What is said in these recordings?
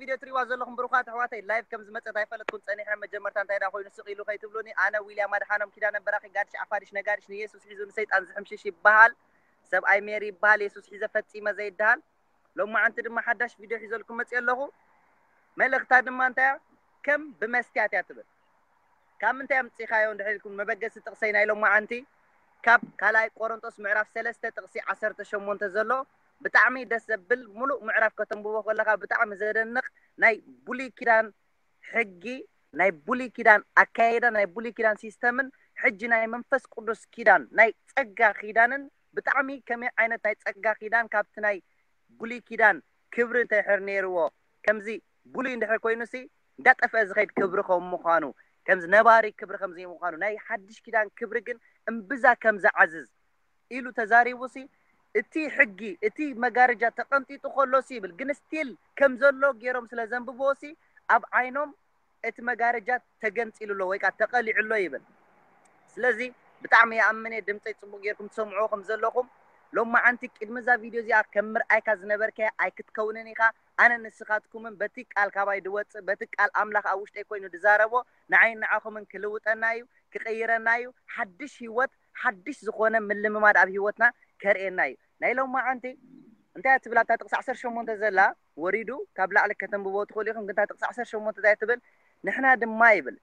ቪድዮ ትሪእዋ ዘለኹም ብሩኻት ኣሕዋተይ፣ ላይቭ ከም ዝመጸት ኣይፈለጥኩን ጸኒሐ። መጀመርታ እንታይ ደኣ ኮይኑ ስቕ ኢሉ ከይትብሉኒ። ኣነ ዊልያም ኣድሓኖም ኪዳነ በራኺ ጋድሽ ዓፋድሽ ነጋድሽ ንየሱስ ሒዙ ንሰይጣን ዝሕምሽሽ ይበሃል። ሰብኣይ ሜሪ ይበሃል። የሱስ ሒዘ ፈጺመ ዘይደሃል። ሎማዓንቲ ድማ ሓዳሽ ቪድዮ ሒዘልኩም መጽእ ኣለኹ። መልእኽታ ድማ እንታይ እያ? ከም ብመስትያት እያ ትብል። ካብ ምንታይ ኣምጺኻዮ እንድሕር ኢልኩም፣ መበገሲ ጥቕሰይ ናይ ሎማዓንቲ ካብ ካልኣይ ቆሮንጦስ ምዕራፍ ሰለስተ ጥቕሲ ዓሰርተ ሸሞንተ ዘሎ ብጣዕሚ ደስ ዘብል፣ ሙሉእ ምዕራፍ ከተንብቦ ከለኻ ብጣዕሚ ዘደንቕ ናይ ብሉይ ኪዳን ሕጊ፣ ናይ ብሉይ ኪዳን ኣካያይዳ፣ ናይ ብሉይ ኪዳን ሲስተምን ሕጂ ናይ መንፈስ ቅዱስ ኪዳን ናይ ጸጋ ኪዳንን ብጣዕሚ ከመይ ዓይነት ናይ ጸጋ ኪዳን ካብቲ ናይ ብሉይ ኪዳን ክብሪ እንተድሕር ነይርዎ፣ ከምዚ ብሉይ እንድሕር ኮይኑሲ እንዳጠፍአ ዝኸይድ ክብሪ ከም ምዃኑ፣ ከምዚ ነባሪ ክብሪ ከም ዘይምዃኑ፣ ናይ ሓድሽ ኪዳን ክብሪ ግን እምብዛ ከም ዝዓዝዝ ኢሉ ተዛሪቡሲ፣ እቲ ሕጊ፣ እቲ መጋረጃ ተቐንጢጡ ከሎሲ ይብል፣ ግን ስቲል ከም ዘሎ ገይሮም ስለ ዘንብብዎሲ፣ ኣብ ዓይኖም እቲ መጋረጃ ተገንጺሉ ኣሎ ወይ ከዓ ተቐሊዑ ኣሎ ይብል። ስለዚ ብጣዕሚ ይኣምን እየ ድምፀይ ፅቡቅ ጌርኩም ትሰምዕዎ ከም ዘለኹም። ሎማዓንቲ ቅድሚ እዛ ቪድዮ እዚኣ ከም ምርኣይካ ዝነበርከያ ኣይክትከውንን ኢኻ። ኣነ ንስኻትኩምን በቲ ቃል ካባይ ድወፅእ በቲ ቃል ኣምላኽ ኣብ ውሽጠይ ኮይኑ ድዛረቦ ንዓይን ንዓኹምን ክልውጠና እዩ፣ ክቕይረና እዩ። ሓድሽ ህይወት፣ ሓድሽ ዝኾነ ምልምማድ ኣብ ህይወትና ከርእየና እዩ። ናይ ሎማዓንቲ እንታይ እያ ትብል ኣብታ ጥቕሲ ዓሰርተ ሸሞንተ ዘላ ወሪዱ ካብ ላዕሊ ከተንብቦ ትኽእሉ ኢኹም። ግን እታ ጥቕሲ ዓሰርተ ሸሞንተ እንታይ ትብል? ንሕና ድማ ይብል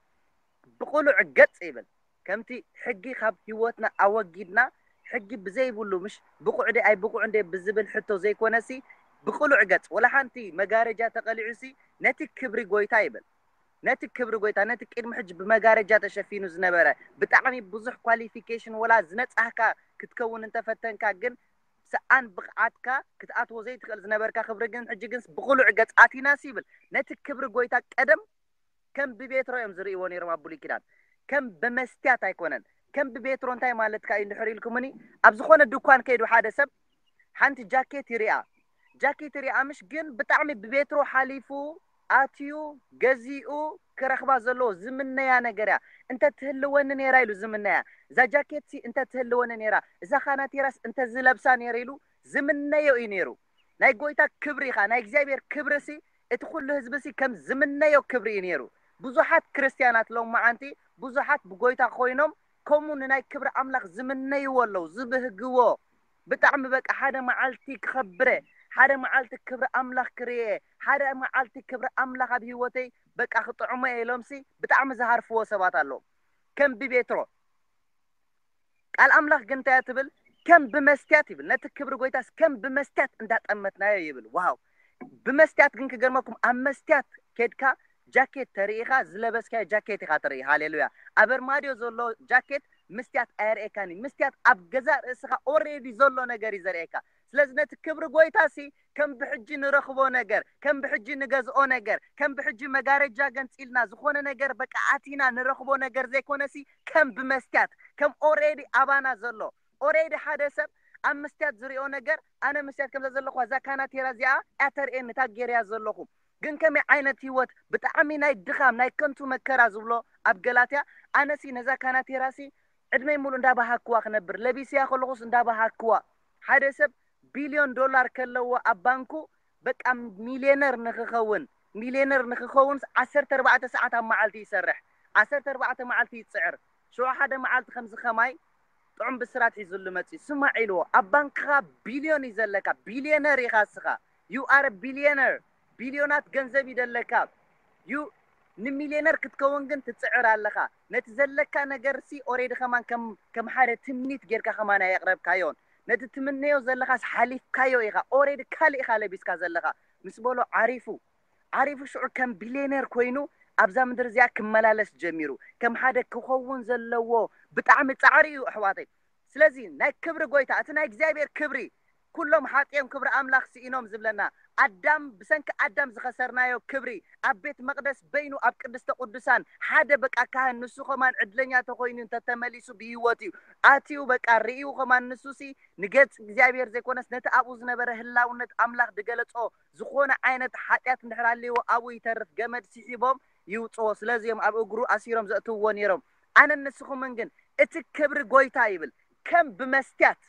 ብቕሉዕ ገጽ ይብል ከምቲ ሕጊ ካብ ህይወትና ኣወጊድና ሕጊ ብዘይብሉ ምሽ ብቑዕ ደ ኣይ ብቑዕ እንደ ብዝብል ሕቶ ዘይኮነሲ ብቕሉዕ ገጽ ወላ ሓንቲ መጋረጃ ተቐሊዑሲ ነቲ ክብሪ ጎይታ ይብል ነቲ ክብሪ ጎይታ ነቲ ቅድሚ ሕጂ ብመጋረጃ ተሸፊኑ ዝነበረ ብጣዕሚ ብዙሕ ኳሊፊኬሽን ወላ ዝነጻህካ ክትከውን እንተፈተንካ ግን ሰኣን ብቕዓትካ ክትኣትዎ ዘይትኽእል ዝነበርካ ክብሪ ግን ሕጂ ግን ብቕሉዕ ገጽ ኣቲናሲ ይብል ነቲ ክብሪ ጎይታ ቀደም ከም ብቤትሮ እዮም ዝርእይዎ ነይሮም ኣብ ብሉይ ኪዳን ከም ብመስትያት ኣይኮነን ከም ብቤትሮ እንታይ ማለትካ እዩ እንድሕር ኢልኩምኒ ኣብ ዝኾነ ድኳን ከይዱ ሓደ ሰብ ሓንቲ ጃኬት ይሪኣ ጃኬት ይሪኣ ምሽ ግን ብጣዕሚ ብቤትሮ ሓሊፉ ኣትዩ ገዚኡ ክረኽባ ዘለዎ ዝምነያ ነገር እያ እንተ ትህልወኒ ነይራ ኢሉ ዝምነያ እዛ ጃኬት ሲ እንተ ትህልወኒ ነይራ እዛ ካናቴራስ እንተ ዝለብሳ ነይረ ኢሉ ዝምነዮ እዩ ነይሩ ናይ ጎይታ ክብሪ ኢኻ ናይ እግዚኣብሔር ክብሪ ሲ እቲ ኩሉ ህዝቢ ሲ ከም ዝምነዮ ክብሪ እዩ ነይሩ ብዙሓት ክርስትያናት ሎም መዓንቲ ብዙሓት ብጎይታ ኮይኖም ከምኡ ንናይ ክብሪ ኣምላኽ ዝምነይዎ ኣለዉ ዝብህግዎ ብጣዕሚ በቃ ሓደ መዓልቲ ክኸብረ ሓደ መዓልቲ ክብሪ ኣምላኽ ክርየ ሓደ መዓልቲ ክብሪ ኣምላኽ ኣብ ህይወተይ በቃ ክጥዕሞ እየ ኢሎምሲ ብጣዕሚ ዝሃርፍዎ ሰባት ኣለዉ ከም ብቤትሮ ቃል ኣምላኽ ግን እንታይ ትብል ከም ብመስትያት ይብል ነቲ ክብሪ ጎይታስ ከም ብመስትያት እንዳጠመትናዮ ይብል ዋው ብመስትያት ግን ክገርመኩም ኣብ መስትያት ኬድካ ጃኬት ተርኢኻ ዝለበስካዮ ጃኬት ኢኻ ትርኢ ሃሌሉያ ኣብ ኣርማድዮ ዘሎ ጃኬት ምስትያት ኣየርእየካን እዩ ምስትያት ኣብ ገዛ ርእስኻ ኦሬዲ ዘሎ ነገር እዩ ዘርእየካ ስለዚ ነቲ ክብሪ ጎይታ ሲ ከም ብሕጂ ንረኽቦ ነገር ከም ብሕጂ ንገዝኦ ነገር ከም ብሕጂ መጋረጃ ገንፂልና ዝኾነ ነገር በቃ ኣቲና ንረኽቦ ነገር ዘይኮነ ሲ ከም ብመስትያት ከም ኦሬዲ ኣባና ዘሎ ኦሬዲ ሓደ ሰብ ኣብ መስትያት ዝሪኦ ነገር ኣነ መስትያት ከምዛ ዘለኹዋ እዛ ካናቴራ እዚኣ እያ ተርእየኒ እታ ጌርያ ዘለኹ ግን ከመይ ዓይነት ህይወት ብጣዕሚ ናይ ድኻም ናይ ከንቱ መከራ ዝብሎ ኣብ ገላትያ ኣነሲ ነዛ ካናቴራሲ ዕድመይ ሙሉእ እንዳባሃክዋ ክነብር ለቢስያ ከለኹስ እንዳባሃክዋ ሓደ ሰብ ቢልዮን ዶላር ከለዎ ኣብ ባንኩ በቃ ሚልዮነር ንክኸውን ሚልዮነር ንክኸውንስ ዓሰርተ ኣርባዕተ ሰዓት ኣብ መዓልቲ ይሰርሕ ዓሰርተ ኣርባዕተ መዓልቲ ይፅዕር ሽዑ ሓደ መዓልቲ ከምዚ ከማይ ጥዑም ብስራት ሒዙሉ መፅዩ ስማዕ ኢልዎ ኣብ ባንክኻ ቢልዮን እዩ ዘለካ ቢልዮነር ኢኻ እስኻ you are billionaire ቢልዮናት ገንዘብ እዩ ዘለካ you ንሚልዮነር ክትከውን ግን ትፅዕር ኣለኻ ነቲ ዘለካ ነገር ሲ ኦሬዲ ከማን ከም ሓደ ትምኒት ጌርካ ከማን ኣየቕረብካዮን ነቲ ትምነዮ ዘለኻስ ሓሊፍካዮ ኢኻ ኦሬዲ ካልእ ኢኻ ለቢስካ ዘለኻ ምስ በሎ ዓሪፉ ዓሪፉ ሽዑ ከም ቢልዮነር ኮይኑ ኣብዛ ምድሪ እዚኣ ክመላለስ ጀሚሩ ከም ሓደ ክኸውን ዘለዎ ብጣዕሚ ፃዕሪ እዩ ኣሕዋተይ ስለዚ ናይ ክብሪ ጎይታ እቲ ናይ እግዚኣብሔር ክብሪ ኩሎም ሓጢኦም ክብሪ ኣምላኽ ስኢኖም ዝብለና ኣዳም ብሰንኪ ኣዳም ዝኸሰርናዮ ክብሪ ኣብ ቤት መቅደስ በይኑ ኣብ ቅድስተ ቅዱሳን ሓደ በቃ ካህን ንሱ ከማን ዕድለኛ ተኮይኑ እንተተመሊሱ ብህይወት እዩ ኣትዩ በቃ ርእዩ ከማን ንሱሲ ንገጽ እግዚኣብሔር ዘይኮነስ ነቲ ኣብኡ ዝነበረ ህላውነት ኣምላኽ ዝገለጾ ዝኾነ ዓይነት ሓጢኣት እንድሕር ኣልዎ ኣብኡ ይተርፍ ገመድ ስሒቦም ይውፅዎ ስለዚ እዮም ኣብ እግሩ ኣሲሮም ዘእትውዎ ነይሮም ኣነ ንስኹምን ግን እቲ ክብሪ ጎይታ ይብል ከም ብመስትያት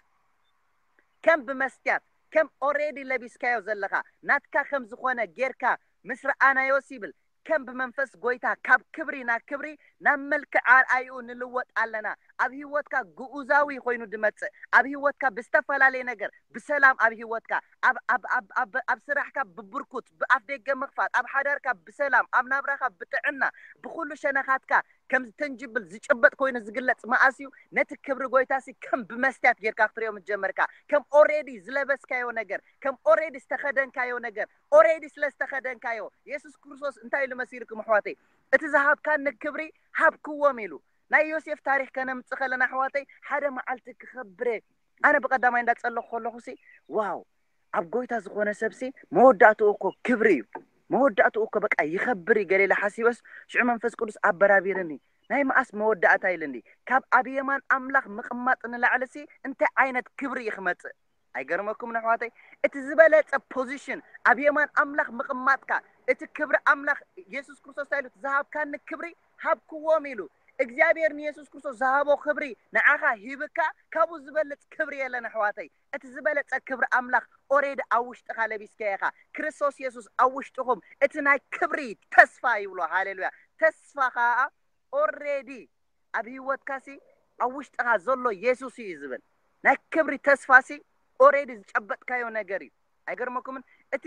ከም ብመስትያት ከም ኦሬዲ ለቢስካዮ ዘለኻ ናትካ ከም ዝኾነ ጌርካ ምስ ረኣናዮስ ይብል ከም ብመንፈስ ጎይታ ካብ ክብሪ ናብ ክብሪ ናብ መልክዕ ኣርኣይኡ ንልወጥ ኣለና። ኣብ ህይወትካ ግኡዛዊ ኮይኑ ድመጽእ፣ ኣብ ህይወትካ ብዝተፈላለየ ነገር ብሰላም፣ ኣብ ህይወትካ ኣብ ኣብ ኣብ ኣብ ኣብ ስራሕካ ብብርኩት፣ ብኣፍ ደገ ምኽፋት፣ ኣብ ሓዳርካ ብሰላም፣ ኣብ ናብራኻ ብጥዕና፣ ብኩሉ ሸነኻትካ ከም ተንጅብል ዝጭበጥ ኮይኑ ዝግለጽ መኣስ እዩ? ነቲ ክብሪ ጎይታሲ ከም ብመስትያት ጌርካ ክትሪኦ ምስ ጀመርካ፣ ከም ኦሬዲ ዝለበስካዮ ነገር፣ ከም ኦሬዲ ዝተኸደንካዮ ነገር፣ ኦሬዲ ስለ ዝተኸደንካዮ። የሱስ ክርስቶስ እንታይ ኢሉ መሲልኩም ኣሕዋተይ? እቲ ዝሃብካኒ ክብሪ ሃብክዎም ኢሉ። ናይ ዮሴፍ ታሪክ ከነምጽእ ከለና ኣሕዋተይ፣ ሓደ መዓልቲ ክኸብር እየ። ኣነ ብቐዳማይ እንዳጸለኹ ከለኹሲ፣ ዋው፣ ኣብ ጎይታ ዝኾነ ሰብሲ መወዳእትኡ እኮ ክብሪ እዩ። መወዳእትኡ እኮ በቃ ይኸብር እዩ ገለ ኢለ ሓሲበስ፣ ሽዑ መንፈስ ቅዱስ ኣበራቢርኒ። ናይ መኣስ መወዳእታ ኢልኒ። ካብ ኣብ የማን ኣምላኽ ምቕማጥ ንላዕልሲ እንታይ ዓይነት ክብሪ እዩ ክመጽእ? ኣይገርመኩም ኣሕዋተይ? እቲ ዝበለጸ ፖዚሽን ኣብ የማን ኣምላኽ ምቕማጥካ፣ እቲ ክብሪ ኣምላኽ የሱስ ክርስቶስ እንታይ ኢሉ? ዝሃብካኒ ክብሪ ሃብክዎም ኢሉ። እግዚኣብሔር ንየሱስ ክርስቶስ ዝሃቦ ክብሪ ንዓኻ ሂብካ፣ ካብኡ ዝበልጽ ክብሪ የለን ኣሕዋተይ። እቲ ዝበለጸ ክብሪ ኣምላኽ ኦሬዲ ኣብ ውሽጥኻ ለቢስካዮ ኢኻ። ክርስቶስ የሱስ ኣብ ውሽጥኹም እቲ ናይ ክብሪ ተስፋ ይብሎ። ሃሌሉያ። ተስፋ ኸኣ ኦሬዲ ኣብ ህይወትካሲ ኣብ ውሽጥኻ ዘሎ የሱስ እዩ ዝብል። ናይ ክብሪ ተስፋሲ ኦሬዲ ዝጨበጥካዮ ነገር እዩ። ኣይገርመኩምን? እቲ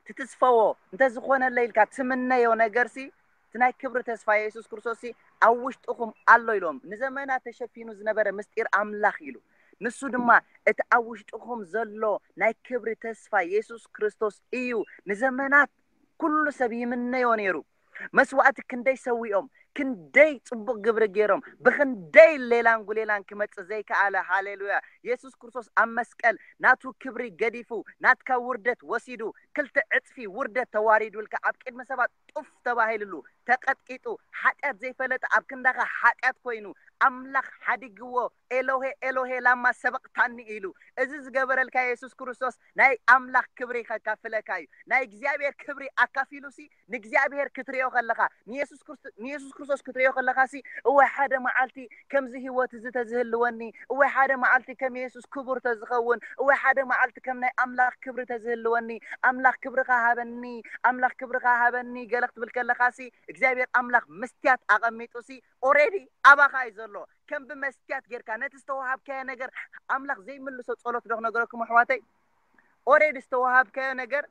ትትስፈዎ እንተዝኾነለይ ኢልካ ትምነዮ ነገርሲ፣ እቲ ናይ ክብሪ ተስፋ የሱስ ክርስቶስሲ ኣብ ውሽጥኹም ኣሎ ኢሎም። ንዘመናት ተሸፊኑ ዝነበረ ምስጢር ኣምላኽ ኢሉ። ንሱ ድማ እቲ ኣብ ውሽጥኹም ዘሎ ናይ ክብሪ ተስፋ የሱስ ክርስቶስ እዩ። ንዘመናት ኩሉ ሰብ ይምነዮ ነይሩ። መስዋእቲ ክንደይ ሰዊኦም፣ ክንደይ ጽቡቕ ግብሪ ገይሮም፣ ብኽንደይ ሌላን ጉሌላን ክመጽእ ዘይከኣለ። ሃሌሉያ። የሱስ ክርስቶስ ኣብ መስቀል ናቱ ክብሪ ገዲፉ፣ ናትካ ውርደት ወሲዱ፣ ክልተ ዕጽፊ ውርደት ተዋሪዱልካ፣ ኣብ ቅድሚ ሰባት ጡፍ ተባሂልሉ፣ ተቐጥቂጡ፣ ሓጢኣት ዘይፈለጠ ኣብ ክንዳኻ ሓጢኣት ኮይኑ፣ ኣምላኽ ሓዲግዎ፣ ኤሎሄ ኤሎሄ ላማ ሰበቕታኒ ኢሉ። እዚ ዝገበረልካ የሱስ ክርስቶስ ናይ ኣምላኽ ክብሪ ከካፍለካ እዩ። ናይ እግዚኣብሔር ክብሪ ኣካፊሉሲ ንእግዚኣብሔር ክትሪኦ ከለኻ፣ ንየሱስ ክርስቶ-፣ ንየሱስ ክርስቶስ ክትሪኦ ከለኻሲ፣ እወ ሓደ መዓልቲ ከምዚ ህይወት እዚ ተዝህልወኒ፣ እወ ሓደ መዓልቲ ከም የሱስ ክቡር ተዝኸውን፣ እወ ሓደ መዓልቲ ከም ናይ ኣምላኽ ክብሪ ተዝህልወኒ፣ ኣምላኽ ክብርኻ ሃበኒ፣ ኣምላኽ ክብርኻ ሃበኒ ገለ ክትብል ከለኻሲ፣ እግዚኣብሔር ኣምላኽ መስትያት ኣቐሚጡሲ፣ ኦሬዲ ኣባኻ እዩ ዘሎ። ከም ብመስትያት ጌርካ ነቲ ዝተዋሃብካዮ ነገር ኣምላኽ ዘይምልሶ ጸሎት ዶ ክነግረኩም ኣሕዋተይ? ኦሬዲ ዝተዋሃብካዮ ነገር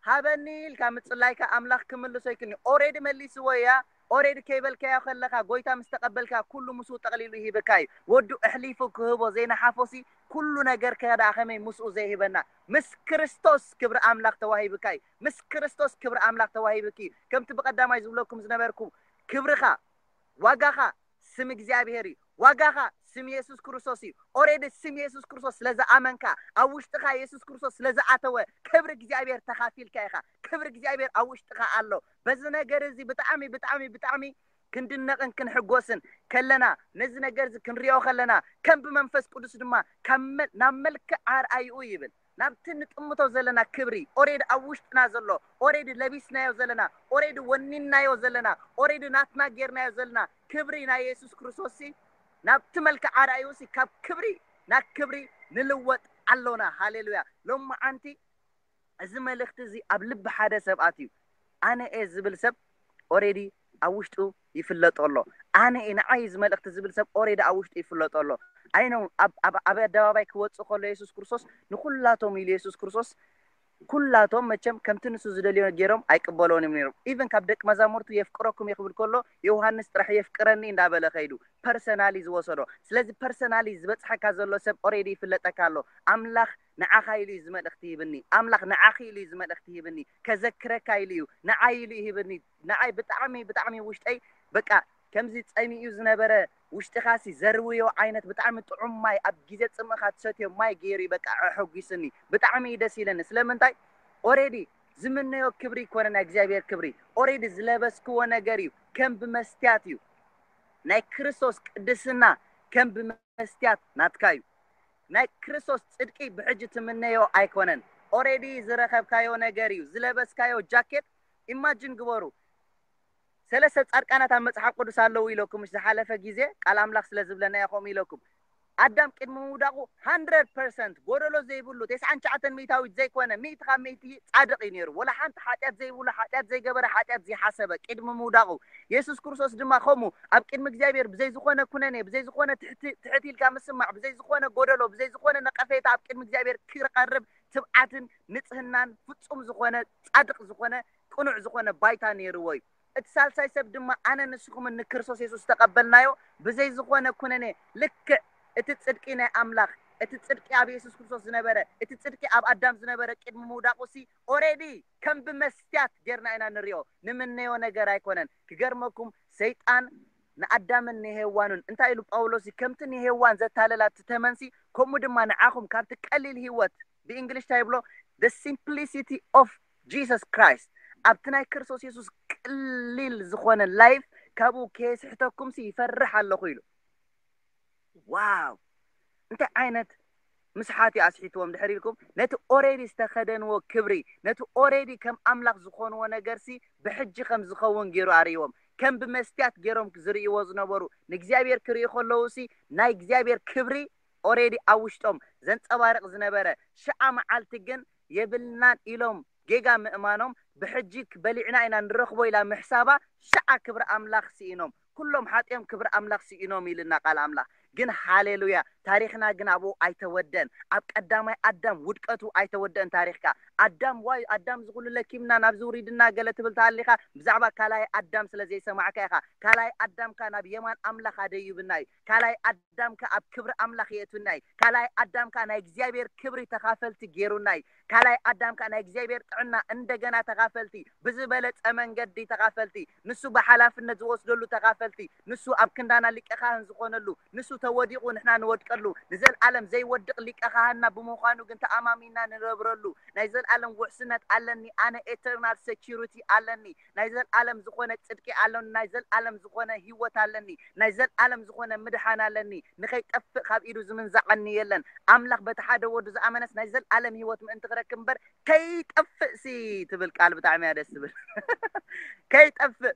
ሃበኒ ኢልካ ምጽላይካ ኣምላኽ ክምልሶ ይክልኒ። ኦሬዲ መሊስዎ እያ። ኦሬዲ ከይበልካዮ ከለኻ፣ ጎይታ ምስ ተቐበልካ፣ ኩሉ ምስኡ ጠቕሊሉ ይህበካ እዩ። ወዱ ኣሕሊፉ ክህቦ ዘይነሓፎሲ፣ ኩሉ ነገር ከኣ ከመይ ምስኡ ዘይህበና? ምስ ክርስቶስ ክብሪ ኣምላኽ ተዋሂብካ እዩ። ምስ ክርስቶስ ክብሪ ኣምላኽ ተዋሂብኪ እዩ። ከምቲ ብቐዳማይ ዝብለኩም ዝነበርኩ፣ ክብርኻ፣ ዋጋኻ ስም እግዚኣብሔር እዩ። ዋጋኻ ስም የሱስ ክርስቶስ እዩ። ኦሬዲ ስም የሱስ ክርስቶስ ስለ ዝኣመንካ፣ ኣብ ውሽጥኻ የሱስ ክርስቶስ ስለ ዝኣተወ፣ ክብሪ እግዚኣብሔር ተኻፊልካ ኢኻ። ክብሪ እግዚኣብሔር ኣብ ውሽጥኻ ኣሎ። በዚ ነገር እዚ ብጣዕሚ፣ ብጣዕሚ፣ ብጣዕሚ ክንድነቕን ክንሕጎስን ከለና፣ ነዚ ነገር እዚ ክንሪኦ ከለና፣ ከም ብመንፈስ ቅዱስ ድማ ካብ መ-፣ ናብ መልክዕ ኣርኣይኡ ይብል። ናብቲ ንጥምቶ ዘለና ክብሪ፣ ኦሬዲ ኣብ ውሽጥና ዘሎ፣ ኦሬዲ ለቢስናዮ ዘለና፣ ኦሬዲ ወኒንናዮ ዘለና፣ ኦሬዲ ናትና ጌርናዮ ዘለና ክብሪ ናይ የሱስ ክርስቶስሲ፣ ናብቲ መልክዕ ኣርኣይኡሲ ካብ ክብሪ ናብ ክብሪ ንልወጥ ኣሎና። ሃሌሉያ። ሎማዓንቲ እዚ መልእኽቲ እዚ ኣብ ልቢ ሓደ ሰብ ኣትዩ። ኣነ እየ ዝብል ሰብ ኦሬዲ ኣብ ውሽጡ ይፍለጦ ኣሎ። ኣነ እየ፣ ንዓይ እዚ መልእኽቲ ዝብል ሰብ ኦሬዲ ኣብ ውሽጡ ይፍለጦ ኣሎ። ኣይ ነው፣ ኣብ፣ ኣብ፣ ኣብ ኣደባባይ ክወጽእ ከሎ የሱስ ክርስቶስ ንኹላቶም ኢሉ፣ የሱስ ክርስቶስ ኩላቶም መቸም ከምቲ ንሱ ዝደልዮ ገይሮም ኣይቅበሎን እዮም ነይሮም። ኢቨን ካብ ደቂ መዛሙርቱ የፍቅረኩም እየ ክብል ከሎ፣ ዮሃንስ ጥራሕ የፍቅረኒ እንዳበለ ከይዱ ፐርሰናሊ ዝወሰዶ። ስለዚ ፐርሰናሊ ዝበጽሐካ ዘሎ ሰብ ኦሬዲ ይፍለጠካ ኣሎ። ኣምላኽ ንዓኻ ኢሉ እዩ እዚ መልእኽቲ ሂብኒ። ኣምላኽ ንዓኺ ኢሉ እዩ እዚ መልእኽቲ ሂብኒ። ከዘክረካ ኢሉ እዩ። ንዓይ ኢሉ እዩ ሂብኒ። ንዓይ ብጣዕሚ፣ ብጣዕሚ ውሽጠይ በቃ ከምዚ ጸሚኡ ዝነበረ ውሽጥኻሲ ዘርውዮ ዓይነት ብጣዕሚ ጥዑም ማይ፣ ኣብ ግዜ ጽምእኻ ትሰትዮ ማይ ገይሩ እዩ በቃ ኣሐጒስኒ። ብጣዕሚ እዩ ደስ ኢለኒ። ስለምንታይ? ኦሬዲ ዝምነዮ ክብሪ ይኮነ ናይ እግዚኣብሔር ክብሪ። ኦሬዲ ዝለበስክዎ ነገር እዩ። ከም ብመስትያት እዩ። ናይ ክርስቶስ ቅድስና ከም ብመስትያት ናትካ እዩ። ናይ ክርስቶስ ጽድቂ ብሕጂ ትምነዮ ኣይኮነን። ኦሬዲ ዝረኸብካዮ ነገር እዩ። ዝለበስካዮ ጃኬት፣ ኢማጂን ግበሩ። ሰለስተ ጻድቃናት ኣብ መጽሓፍ ቅዱስ ኣለዉ ኢለኩም፣ ዝሓለፈ ግዜ ቃል ኣምላኽ ስለ ዝብለና ኢኹም ኢለኩም። ኣዳም ቅድሚ ምውዳቑ hundred percent ጎደሎ ዘይብሉ፣ ተስዓን ትሽዓተን ሚእታዊት ዘይኮነ፣ ሚእቲ ካብ ሚእቲ ጻድቕ እዩ ነይሩ። ወላ ሓንቲ ሓጢኣት ዘይብሉ፣ ሓጢኣት ዘይገበረ፣ ሓጢኣት ዘይሓሰበ ቅድሚ ምውዳቑ። የሱስ ክርስቶስ ድማ ከምኡ ኣብ ቅድሚ እግዚኣብሔር ብዘይ ዝኾነ ኩነኔ፣ ብዘይ ዝኾነ ትሕቲ-፣ ትሕት ኢልካ ምስማዕ፣ ብዘይ ዝኾነ ጎደሎ፣ ብዘይ ዝኾነ ነቐፌታ ኣብ ቅድሚ እግዚኣብሔር ክቐርብ ትብዓትን ንጽህናን ፍጹም ዝኾነ፣ ጻድቕ ዝኾነ፣ ቅኑዕ ዝኾነ ባይታ ነይርዎ እዩ። እቲ ሳልሳይ ሰብ ድማ ኣነ ንስኹምን ንክርስቶስ የሱስ ዝተቐበልናዮ ብዘይ ዝኾነ ኩነኔ ልክዕ እቲ ጽድቂ ናይ ኣምላኽ፣ እቲ ጽድቂ ኣብ የሱስ ክርስቶስ ዝነበረ፣ እቲ ጽድቂ ኣብ ኣዳም ዝነበረ ቅድሚ ምውዳቑ ሲ ኦሬዲ ከም ብመስትያት ጌርና ኢና ንሪኦ። ንምነዮ ነገር ኣይኮነን። ክገርመኩም ሰይጣን ንኣዳምን ንሄዋኑን እንታይ ኢሉ ጳውሎስ ሲ ከምቲ ንሄዋን ዘታለላ እቲ ተመንሲ ከምኡ ድማ ንዓኹም ካብቲ ቀሊል ህይወት ብእንግሊሽ እንታይ ይብሎ the simplicity of Jesus Christ ኣብቲ ናይ ክርስቶስ የሱስ ቅሊል ዝኾነ ላይፍ ካብኡ ከየስሕተኩም ሲ ይፈርሕ ኣለኹ ኢሉ። ዋው እንታይ ዓይነት ምስሓት እዩ ኣስሒትዎም ድሕር ኢልኩም ነቲ ኦሬዲ ዝተኸደንዎ ክብሪ ነቲ ኦሬዲ ከም ኣምላኽ ዝኾንዎ ነገር ሲ ብሕጂ ከም ዝኸውን ገይሩ ኣርእዎም ከም ብመስትያት ገይሮም ዝርእይዎ ዝነበሩ ንእግዚኣብሔር ክርእዩ ከለዉ ሲ ናይ እግዚኣብሔር ክብሪ ኦሬዲ ኣብ ውሽጦም ዘንጸባርቕ ዝነበረ ሽዓ መዓልቲ ግን የብልናን ኢሎም ጌጋ ምእማኖም ብሕጂ በሊዕና ኢና ንረኽቦ ኢላ ምሕሳባ ሽዓ ክብሪ ኣምላኽ ስኢኖም ኩሎም ሓጢኦም ክብሪ ኣምላኽ ስኢኖም ኢልና ቃል ኣምላኽ ግን ሃሌሉያ ታሪኽና ግን ኣብኡ ኣይተወደን ኣብ ቀዳማይ ኣዳም ውድቀቱ ኣይተወደን ታሪኽካ ኣዳም ዋይ ኣዳም ዝኹሉ ለኪምና ናብ ዝውሪድና ገለ ትብል ተሃሊኻ ብዛዕባ ካልኣይ ኣዳም ስለ ዘይሰማዕካ ኢኻ ካልኣይ ኣዳምካ ናብ የማን ኣምላኽ ኣደይብና እዩ ካልኣይ ኣዳምካ ኣብ ክብሪ ኣምላኽ የእቱና እዩ ካልኣይ ኣዳምካ ናይ እግዚኣብሔር ክብሪ ተኻፈልቲ ገይሩና እዩ ካልኣይ ኣዳምካ ናይ እግዚኣብሔር ጥዕና እንደገና ተኻፈልቲ ብዝበለጸ መንገዲ ተኻፈልቲ ንሱ ብሓላፍነት ዝወስደሉ ተኻፈልቲ ንሱ ኣብ ክንዳና ሊቀ ካህን ዝኾነሉ ንሱ ተወዲቑ ንሕና ንወድቀሉ ንዘልኣለም ዘይወድቕ ሊቀ ካህንና ብምዃኑ ግን ተኣማሚና ንነብረሉ ናይ ዘልኣለም ውሕስነት ኣለኒ ኣነ eternal security ኣለኒ ናይ ዘልኣለም ዝኾነ ጽድቂ ኣለኒ ናይ ዘልኣለም ዝኾነ ህይወት ኣለኒ ናይ ዘልኣለም ዝኾነ ምድሓን ኣለኒ ንኸይጠፍእ ካብ ኢዱ ዝምንዛዓኒ የለን ኣምላኽ በቲ ሓደ ወዱ ዝኣመነስ ናይ ዘልኣለም ህይወት ምእንቲ ክረክብ እምበር ከይጠፍእ ሲ ትብል ቃል ብጣዕሚ እያ ደስ ትብል ከይጠፍእ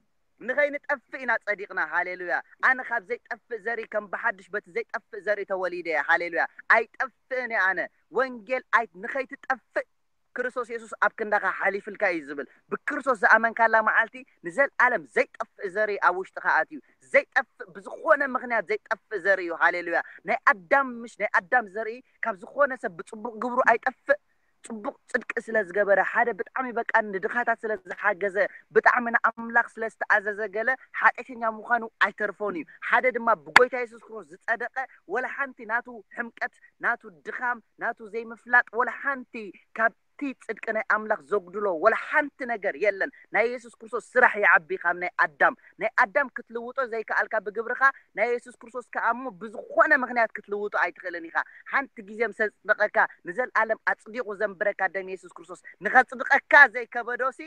ንኸይንጠፍእ ኢና ጸዲቕና ሃሌሉያ ኣነ ካብ ዘይጠፍእ ዘርኢ ከም ብሓድሽ በቲ ዘይጠፍእ ዘርኢ ተወሊደ እየ ሃሌሉያ ኣይጠፍእን እየ ኣነ ወንጌል ኣይ ንኸይትጠፍእ ክርስቶስ የሱስ ኣብ ክንዳኻ ሓሊፍልካ እዩ ዝብል ብክርስቶስ ዝኣመንካላ መዓልቲ ንዘልኣለም ዘይጠፍእ ዘርኢ ኣብ ውሽጥኻ ኣትዩ ዘይጠፍእ ብዝኾነ ምኽንያት ዘይጠፍእ ዘርኢ እዩ ሃሌሉያ ናይ ኣዳም ምሽ ናይ ኣዳም ዘርኢ ካብ ዝኾነ ሰብ ብፅቡቕ ግብሩ ኣይጠፍእ ፅቡቕ ፅድቂ ስለ ዝገበረ ሓደ ብጣዕሚ በቃ ንድኻታት ስለ ዝሓገዘ ብጣዕሚ ንኣምላኽ ስለ ዝተኣዘዘ ገለ ሓጢኣተኛ ምዃኑ ኣይተርፎን እዩ ሓደ ድማ ብጎይታ የሱስ ክርስቶስ ዝፀደቐ ወላ ሓንቲ ናቱ ሕምቀት ናቱ ድኻም ናቱ ዘይምፍላጥ ወላ ሓንቲ ካብ እቲ ጽድቂ ናይ ኣምላኽ ዘጉድሎ ወላ ሓንቲ ነገር የለን ናይ የሱስ ክርስቶስ ስራሕ ይዓቢ ካብ ናይ ኣዳም ናይ ኣዳም ክትልውጦ ዘይከኣልካ ብግብርኻ ናይ የሱስ ክርስቶስ ከኣ እሞ ብዝኾነ ምኽንያት ክትልውጦ ኣይትኽእልን ኢኻ ሓንቲ ግዜ ምስ ኣጽደቐካ ንዘልኣለም ኣጽዲቑ ዘንብረካ ደም የሱስ ክርስቶስ ንኸጽድቐካ ዘይከበዶሲ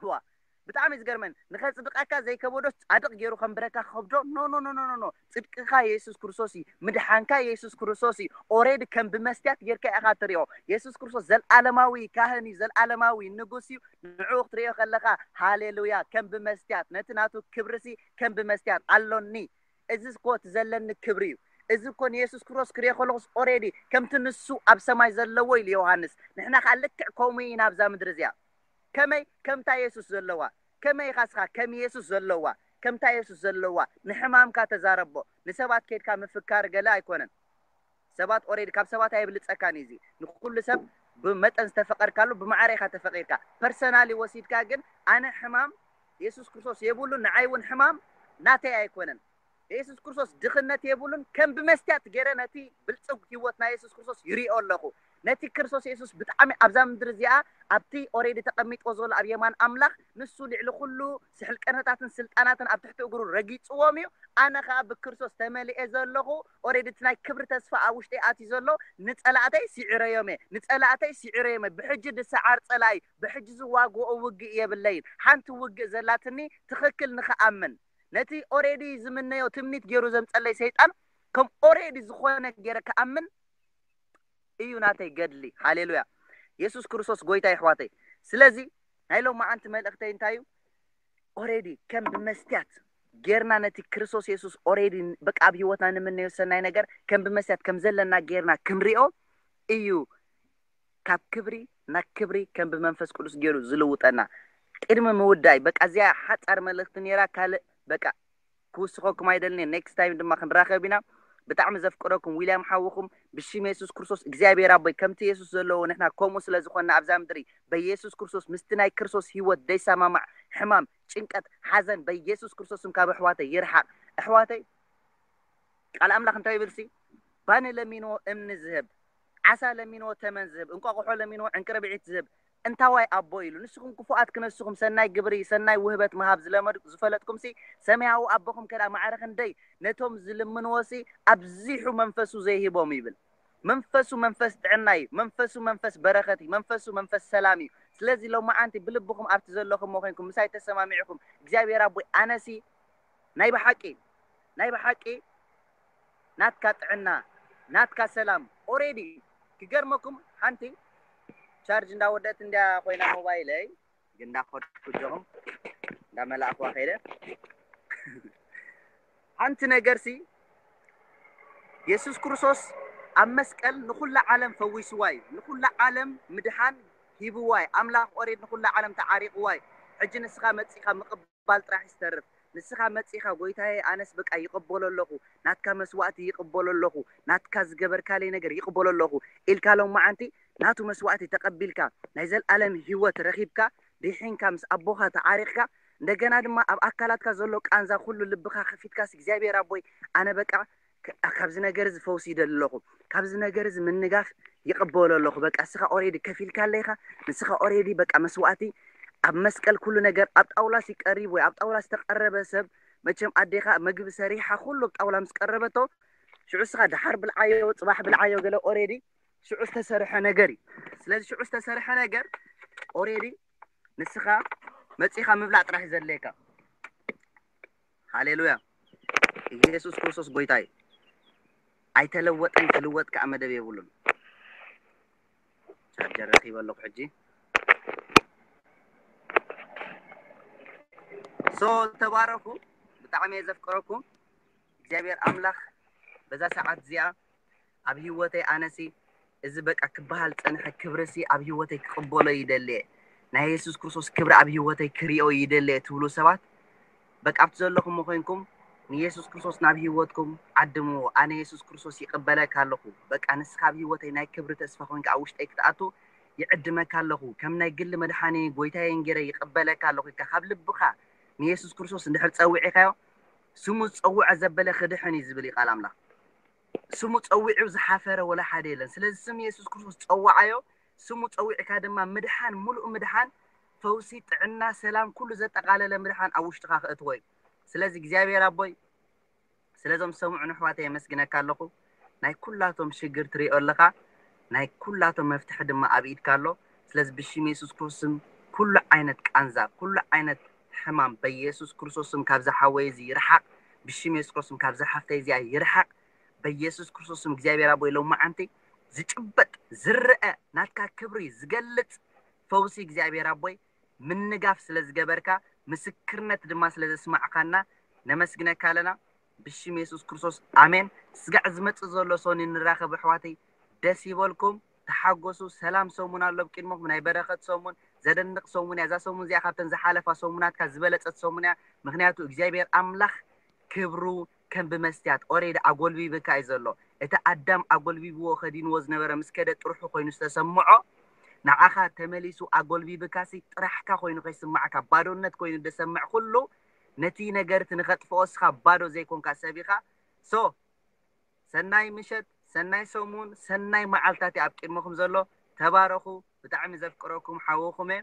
ዋ ብጣዕሚ ዝገርመን ንኸጽድቐካ ዘይከበዶ ጻድቕ ገይሩ ከንብረካ ከብዶ ኖ ኖ ኖ ኖ ኖ ጽድቅኻ የሱስ ክርስቶስ እዩ ምድሓንካ የሱስ ክርስቶስ እዩ ኦሬዲ ከም ብመስትያት ጌርካ ኢኻ ትሪኦ የሱስ ክርስቶስ ዘልኣለማዊ ካህን እዩ ዘልኣለማዊ ንጉስ እዩ ንዕኡ ክትሪኦ ከለኻ ሃሌሉያ ከም ብመስትያት ነቲ ናቱ ክብርሲ ከም ብመስትያት ኣሎኒ እዚ እኮ እቲ ዘለኒ ክብሪ እዩ እዚ እኮ ንየሱስ ክርስቶስ ክሪኦ ከለኹስ ኦሬዲ ከምቲ ንሱ ኣብ ሰማይ ዘለዎ ኢሉ ዮሃንስ ንሕና ከዓ ልክዕ ከምኡ ኢና ኣብዛ ምድሪ እዚኣ ከመይ ከምታ የሱስ ዘለዋ ከመይ ኢኻ ስኻ ከም የሱስ ዘለዋ ከምታ የሱስ ዘለዋ ንሕማምካ ተዛረቦ ንሰባት ኬድካ ምፍካር ገለ ኣይኮነን ሰባት ኦሬዲ ካብ ሰባት ኣይብልፀካን እዩ እዚ ንኩሉ ሰብ ብመጠን ዝተፈቀድካሉ ብማዕረ ኢኻ ተፈቂድካ ፐርሰናሊ ወሲድካ ግን ኣነ ሕማም የሱስ ክርስቶስ የብሉን ንዓይ እውን ሕማም ናተይ ኣይኮነን የሱስ ክርስቶስ ድኽነት የብሉን ከም ብመስትያት ገይረ ነቲ ብልፅግ ህይወት ናይ የሱስ ክርስቶስ ይሪኦ ኣለኹ ነቲ ክርስቶስ የሱስ ብጣዕሚ ኣብዛ ምድሪ እዚኣ ኣብቲ ኦሬዲ ተቐሚጥዎ ዘሎ ኣብ የማን ኣምላኽ ንሱ ልዕሊ ኩሉ ስሕልቀነታትን ስልጣናትን ኣብ ትሕቲ እግሩ ረጊፅዎም እዩ ኣነ ከዓ ብክርስቶስ ተመሊኤ ዘለኹ ኦሬዲ እቲ ናይ ክብሪ ተስፋ ኣብ ውሽጢ ኣትዩ ዘሎ ንፀላእተይ ስዒረዮም እየ ንፀላእተይ ስዒረዮም እየ ብሕጂ ድሰዓር ፀላኢ ብሕጂ ዝዋግኦ ውግእ የብለይን ሓንቲ ውግእ ዘላትኒ ትኽክል ንኽኣምን ነቲ ኦሬዲ ዝምነዮ ትምኒት ገይሩ ዘምፀለይ ሰይጣን ከም ኦሬዲ ዝኾነ ገይረ ክኣምን እዩ ናተይ ገድሊ ሃሌሉያ የሱስ ክርስቶስ ጎይታ ይሕዋተይ ስለዚ ናይ ሎማዓንቲ መልእክተይ እንታይ እዩ ኦሬዲ ከም ብመስትያት ጌርና ነቲ ክርስቶስ የሱስ ኦሬዲ በቃ ኣብ ህይወትና ንምነዮ ሰናይ ነገር ከም ብመስትያት ከም ዘለና ጌርና ክንሪኦ እዩ ካብ ክብሪ ናብ ክብሪ ከም ብመንፈስ ቅዱስ ገይሩ ዝልውጠና። ቅድሚ ምውዳይ በቃ እዚኣ ሓፃር መልእክቲ ነይራ። ካልእ በቃ ክውስኸኩም ኣይደልን። ኔክስት ታይም ድማ ክንራኸብ ኢና። ብጣዕሚ ዘፍቅረኩም ዊልያም ሓውኹም ብሽም የሱስ ክርስቶስ እግዚኣብሔር ኣቦይ ከምቲ የሱስ ዘለዎ ንሕና ከምኡ ስለ ዝኾንና ኣብዛ ምድሪ በየሱስ ክርስቶስ ምስቲ ናይ ክርስቶስ ህይወት ዘይሰማማዕ ሕማም፣ ጭንቀት፣ ሓዘን በየሱስ ክርስቶስም ካብ ኣሕዋተይ ይርሓቕ። ኣሕዋተይ ቃል ኣምላኽ እንታይ ይብልሲ? ባኒ ለሚንዎ እምኒ ዝህብ፣ ዓሳ ለሚንዎ ተመን ዝህብ፣ እንቋቑሖ ለሚንዎ ዕንቅርብዒት ዝህብ እንታዋይ ኣቦ ኢሉ። ንስኹም ክፉኣት ክነስኹም ሰናይ ግብሪ ሰናይ ውህበት ምሃብ ዝለመድ ዝፈለጥኩምሲ ሰማያዊ ኣቦኹም ከዳ ማዕረ ክንደይ ነቶም ዝልምንዎሲ ኣብዚሑ መንፈሱ ዘይህቦም ይብል። መንፈሱ መንፈስ ጥዕና እዩ። መንፈሱ መንፈስ በረኸት እዩ። መንፈሱ መንፈስ ሰላም እዩ። ስለዚ ሎማዓንቲ ብልብኹም ኣብቲ ዘለኹምዎ ኮይንኩም ምሳይ ተሰማሚዕኹም እግዚኣብሔር ኣቦይ ኣነሲ ናይ ብሓቂ ናይ ብሓቂ ናትካ ጥዕና ናትካ ሰላም ኦሬዲ ክገርመኩም ሓንቲ ቻርጅ እንዳወደት እንዲያ ኮይና ሞባይለይ ግን እንዳኸድኩ ጆኹም እንዳመላእኽዋ ከይደ ሓንቲ ነገር ሲ የሱስ ክርስቶስ ኣብ መስቀል ንኹላ ዓለም ፈዊስዋ እዩ። ንኹላ ዓለም ምድሓን ሂብዋ እዩ። ኣምላኽ ኦሬድ ንኹላ ዓለም ተዓሪቕዋ እዩ። ሕጂ ንስኻ መጺኻ ምቕባል ጥራሕ ይስተርፍ። ንስኻ መጺኻ ጎይታየ ኣነስ በቃ ይቕበሎ ኣለኹ፣ ናትካ መስዋእቲ ይቕበሎ ኣለኹ፣ ናትካ ዝገበርካለይ ነገር ይቕበሎ ኣለኹ ኢልካ ሎም መዓንቲ ናቱ መስዋእቲ ተቐቢልካ ናይ ዘለኣለም ህይወት ረኺብካ ድሒንካ ምስ ኣቦኻ ተዓሪቕካ እንደገና ድማ ኣብ ኣካላትካ ዘሎ ቃንዛ ኩሉ ልብኻ ከፊትካስ እግዚኣብሔር ኣቦይ ኣነ በቃ ክ- ካብዚ ነገር እዚ ፈውሲ ይደሊ ኣለኹ፣ ካብዚ ነገር እዚ ምንጋፍ ይቕበሎ ኣለኹ። በቃ እስኻ ኦሬዲ ከፊልካ ኣለኻ። ንስኻ ኦሬዲ በቃ መስዋእቲ ኣብ መስቀል ኩሉ ነገር ኣብ ጣውላስ ይቀሪብ ወይ ኣብ ጣውላስ ተቀረበ ሰብ መቸም ኣዴኻ መግቢ ሰሪሓ ኩሉ ኣብ ጣውላ ምስ ቀረበቶ ሽዑ እስኻ ድሓር ብልዓዮ ጽባሕ ብልዓዮ ገለ ኦሬዲ ሽዑ ዝተሰርሐ ነገር እዩ። ስለዚ ሽዑ ዝተሰርሐ ነገር ኦሬዲ ንስኻ መጺኻ ምብላዕ ጥራሕ እዩ ዘድልየካ። ሃሌሉያ። ኢየሱስ ክርስቶስ ጎይታ እዩ። ኣይተለወጠን፣ ክልወጥ ከዓ መደብ የብሉን። ቻርጀር ረኺበ ኣለኹ ሕጂ። ሶ ተባረኹ። ብጣዕሚ እየ ዘፍቅረኩም። እግዚኣብሔር ኣምላኽ በዛ ሰዓት እዚኣ ኣብ ህይወተይ ኣነሲ እዚ በቃ ክበሃል ዝጸንሐ ክብርሲ ኣብ ህይወተይ ክቕበሎ ይደልየ። ናይ የሱስ ክርስቶስ ክብሪ ኣብ ህይወተይ ክሪኦ ይደልየ ትብሉ ሰባት በቃ ኣብቲ ዘለኹም ኮይንኩም ንየሱስ ክርስቶስ ናብ ህይወትኩም ዓድምዎ። ኣነ የሱስ ክርስቶስ ይቕበለካ ኣለኹ። በቃ ንስኻ ኣብ ህይወተይ ናይ ክብሪ ተስፋ ኮይንካ ኣብ ውሽጠይ ክትኣቱ ይዕድመካ ኣለኹ። ከም ናይ ግሊ መድሓኒ ጎይታዬን ገይረ ይቕበለካ ኣለኹ ኢልካ ካብ ልብኻ ንየሱስ ክርስቶስ እንድሕር ጸዊዕካዮ ስሙ ዝጸውዐ ዘበለ ክድሕን እዩ ዝብል እዩ ቃል ኣምላኽ። ስሙ ጸዊዑ ዝሓፈረ ወላ ሓደ የለን። ስለዚ ስም የሱስ ክርስቶስ ጸውዓዮ። ስሙ ጸዊዕካ ድማ ምድሓን፣ ሙሉእ ምድሓን፣ ፈውሲ፣ ጥዕና፣ ሰላም፣ ኩሉ ዘጠቓለለ ምድሓን ኣብ ውሽጥኻ ክእትዎ እዩ። ስለዚ እግዚኣብሔር ኣቦይ ስለዞም ሰምዑን ኣሕዋተይ የመስግነካ ኣለኹ። ናይ ኩላቶም ሽግር ትሪኦ ኣለኻ፣ ናይ ኩላቶም መፍትሒ ድማ ኣብ ኢድካ ኣሎ። ስለዚ ብሽም የሱስ ክርስቶስም ኩሉ ዓይነት ቃንዛ፣ ኩሉ ዓይነት ሕማም በየሱስ ክርስቶስም ካብዛ ሓወይ እዚ ይርሓቕ። ብሽም የሱስ ክርስቶስም ካብዛ ሓፍተይ እዚኣ ይርሓቕ። በየሱስ ክርስቶስም እግዚኣብሔር ኣቦይ ሎማዓንቲ ዝጭበጥ ዝረአ ናትካ ክብሪ ዝገልጽ ፈውሲ እግዚኣብሔር ኣቦይ ምንጋፍ ስለ ዝገበርካ ምስክርነት ድማ ስለ ዘስማዕካና ነመስግነካ ኣለና። ብሽም የሱስ ክርስቶስ ኣሜን። ስጋዕ ዝመጽእ ዘሎ ሶኒ ንራኸብ ኣሕዋተይ። ደስ ይበልኩም፣ ተሓጎሱ። ሰላም ሰሙን ኣሎ ኣብ ቅድመኹም፣ ናይ በረኸት ሰሙን፣ ዘደንቕ ሰሙን እያ። እዛ ሰሙን እዚኣ ካብተን ዝሓለፋ ሰሙናትካ ዝበለጸት ሰሙን እያ። ምክንያቱ እግዚኣብሔር ኣምላኽ ክብሩ ከም ብመስትያት ኦሬዲ ኣጎልቢብካ እዩ ዘሎ። እቲ ኣዳም ኣጎልቢብዎ ከዲንዎ ዝነበረ ምስ ከደ ጥርሑ ኮይኑ ዝተሰምዖ ንዓኻ ተመሊሱ ኣጎልቢብካሲ ጥራሕካ ኮይኑ ከይስማዕካ ባዶነት ኮይኑ ደሰምዕ ኩሉ ነቲ ነገር እቲ ንኸጥፍኦ እስኻ ባዶ ዘይኮንካ ሰብ ኢኻ። ሶ ሰናይ ምሸት፣ ሰናይ ሰሙን፣ ሰናይ መዓልታት እዩ ኣብ ቅድመኹም ዘሎ። ተባረኹ። ብጣዕሚ ዘፍቅረኩም ሓወኹም እየ።